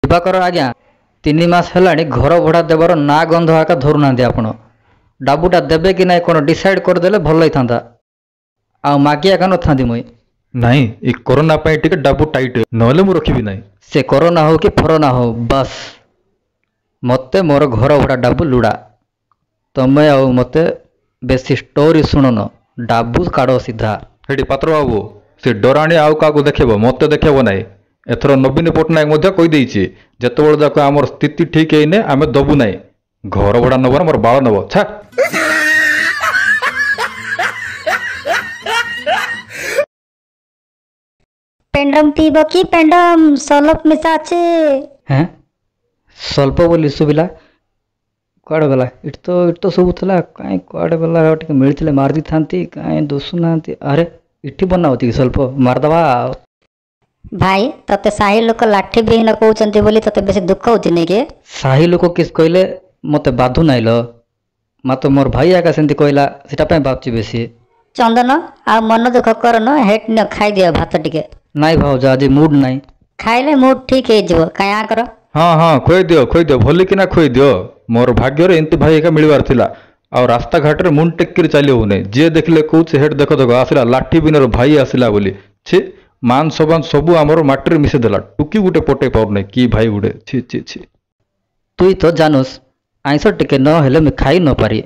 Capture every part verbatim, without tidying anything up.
ଦିବାକର ଆଜ୍ଞା, ତିନି ମାସ ହେଲାଣି ଘର ଭଡ଼ା ଦେବାର ନାଁ ଗନ୍ଧ ଏକା ଧରୁନାହାନ୍ତି ଆପଣ। ଡାବୁଟା ଦେବେ କି ନାଇଁ କ'ଣ ଡିସାଇଡ୍ କରିଦେଲେ ଭଲ ହେଇଥାନ୍ତା, ଆଉ ମାଗି ଏକା ନଥାନ୍ତି ମୁଇଁ। ନାଇଁ, ଏ କରୋନା ପାଇଁ ଟିକେ ଡାବୁ ଟାଇଟ୍, ନହେଲେ ମୁଁ ରଖିବି ନାହିଁ। ସେ କରୋନା ହଉ କି ଫରୋନା ହଉ, ବାସ୍ ମୋତେ ମୋର ଘର ଭଡ଼ା ଡାବୁ ଲୁଡ଼ା। ତମେ ଆଉ ମୋତେ ବେଶୀ ଷ୍ଟୋରି ଶୁଣନ, ଡାବୁ କାଢ଼ ସିଧା। ହେଇଠି ପାତ୍ର ବାବୁ, ସେ ଡରାଣୀ ଆଉ କାହାକୁ ଦେଖେଇବ, ମୋତେ ଦେଖେଇବ ନାହିଁ। ଏଥର ନବୀନ ପଟ୍ଟନାୟକ ମଧ୍ୟ କହିଦେଇଛି, ଯେତେବେଳେ ଯାକ ଆମର ସ୍ଥିତି ଠିକ୍ ହେଇନି ଆମେ ଦବୁ ନାହିଁ। ଘର ଭଡ଼ା ନେବ ନା ମୋର ବାଳ ନେବ, ଛା। ପେଣ୍ଡମ ପିଇବ କି ପେଣ୍ଡମ? ସଲପ ମିଶା ଅଛି। ହେଁ, ସ୍ୱଳ୍ପ ବୋଲି ଶୁଭିଲା, କୁଆଡ଼େ ଗଲା? ଏଠି ତ ଏଠି ତ ସବୁ ଥିଲା, କାଇଁ କୁଆଡ଼େ ଗଲା? ଟିକେ ମିଳିଥିଲେ ମାରି ଦେଇଥାନ୍ତି, କାଇଁ ଦିଶୁନାହାନ୍ତି। ଆରେ ଏଠି ବନା ହେଉଛି କି ସ୍ୱଳ୍ପ? ମାରିଦେବା ଆଉ। ଭାଇ, ତତେ ସାହି ଲୋକ ଲାଠି ବିହୀନ କହୁଛନ୍ତି ବୋଲି ତତେ ବେଶୀ ଦୁଃଖ ହଉଛି ନାଇଁ କି? ସାହି ଲୋକ କିସ୍ କହିଲେ ମୋତେ ବାଧୁ ନାଇଁ ଲୋ ମାତ୍ର ମୋର ଭାଇ ଏକା ସେମିତି କହିଲା, ସେଟା ପାଇଁ ଭାବୁଛି ବେଶୀ। ଚନ୍ଦନ, ଆଉ ମନ ଦୁଃଖ କରନ, ହେଟ୍ ନିଅ, ଖାଇଦିଅ ଭାତ ଟିକେ। ନାଇଁ ଭାଉଜ, ଆଜି ମୁଡ୍ ନାହିଁ। ଖାଇଲେ ମୁଡ୍ ଠିକ୍ ହେଇଯିବ, କାଇଁ ଆଁ କର। ହଁ ହଁ, ଖୁଆଇ ଦିଅ ଖୁଆଇ ଦିଅ, ଭଲିକିନା ଖୁଆଇ ଦିଅ। ମୋର ଭାଗ୍ୟରେ ଏମିତି ଭାଇ ଏକା ମିଳିବାର ଥିଲା। ଆଉ ରାସ୍ତାଘାଟରେ ମୁଣ୍ଡ ଟେକିରି ଚାଲି ହଉନାହିଁ, ଯିଏ ଦେଖିଲେ କହୁଛି ହେଟ୍ ଦେଖ ଦେଖ ଆସିଲା ଲାଠି ବିନର ଭାଇ ଆସିଲା ବୋଲି। ଛି, ମାନ ସମାନ ସବୁ ଆମର ମାଟିରେ ମିଶେଇ ଦେଲା, ଟୁକି ଗୋଟେ ପଟେଇ ପାରୁନାହିଁ, କି ଭାଇ ଗୋଟେ, ଛି ଛି ଛି। ତୁଇ ତ ଜାନୁସ୍, ଆଇଁଷ ଟିକେ ନ ହେଲେ ମୁଇଁ ଖାଇ ନପାରି।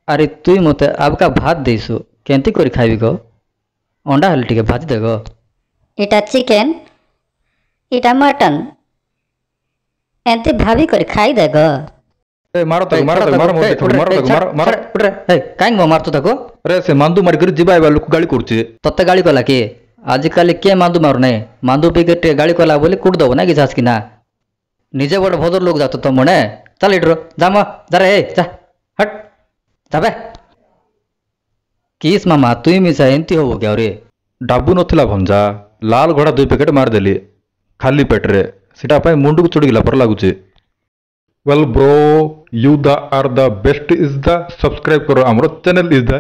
ଆରେ ତୁଇ ମୋତେ ଆବକା ଭାତ ଦେଇଛୁ, କେମିତି କରି ଖାଇବି ଗୋ? ଅଣ୍ଡା ହେଲେ ଟିକେ ଭାଜି ଦେ ଗୋ। ଏଇଟା ଚିକେନ, ଏଇଟା ମଟନ, ଏମିତି ଭାବି କରି ଖାଇଦେ ଗୋ। ଏ ମାର ତାକୁ, ମାର ତାକୁ, ମାର, ମୋତେ ଦେଖ, ମାର ତାକୁ, ମାର ମାର। କାହିଁକି ମୋ ମାରୁଛୁ ତାକୁ? ଆରେ ସେ ମାନ୍ଦୁ ମାରିକରି ଯିବା ଆଇବା ଲୋକ ଗାଳି କରୁଛି। ତତେ ଗାଳି କଲା କିଏ? ଆଜିକାଲି କିଏ ମାନ୍ଦୁ ମାରୁନାହିଁ? ମାନ୍ଦୁ ପିଇକି ଟିକେ ଗାଳି କଲା ବୋଲି କୁଟି ଦବ ନା କି ଝାସକିନା? ନିଜେ ଗୋଟେ ଭଦ୍ର ଲୋକ ଯାଉଛ ତ ମଣେ। ଚାଲ ଏଇଠୁ, ଯା ମ, ଯାରେ, ଏ ଯା, ହଟ୍ ଯାବେ। କିସ୍ ମାମା, ତୁଇ ମିଶା ଏମିତି ହବ କି ଆହୁରି? ଡାବୁ ନଥିଲା ଭଞ୍ଜା, ଲାଲ ଘୋଡ଼ା ଦୁଇ ପ୍ୟାକେଟ୍ ମାରିଦେଲି ଖାଲି ପେଟରେ, ସେଟା ପାଇଁ ମୁଣ୍ଡକୁ ଚଢ଼ିଗଲା ପରେ ଲାଗୁଛି। Well bro, you the are the best is the subscribe କର ଆମର ଚ୍ୟାନେଲ is the.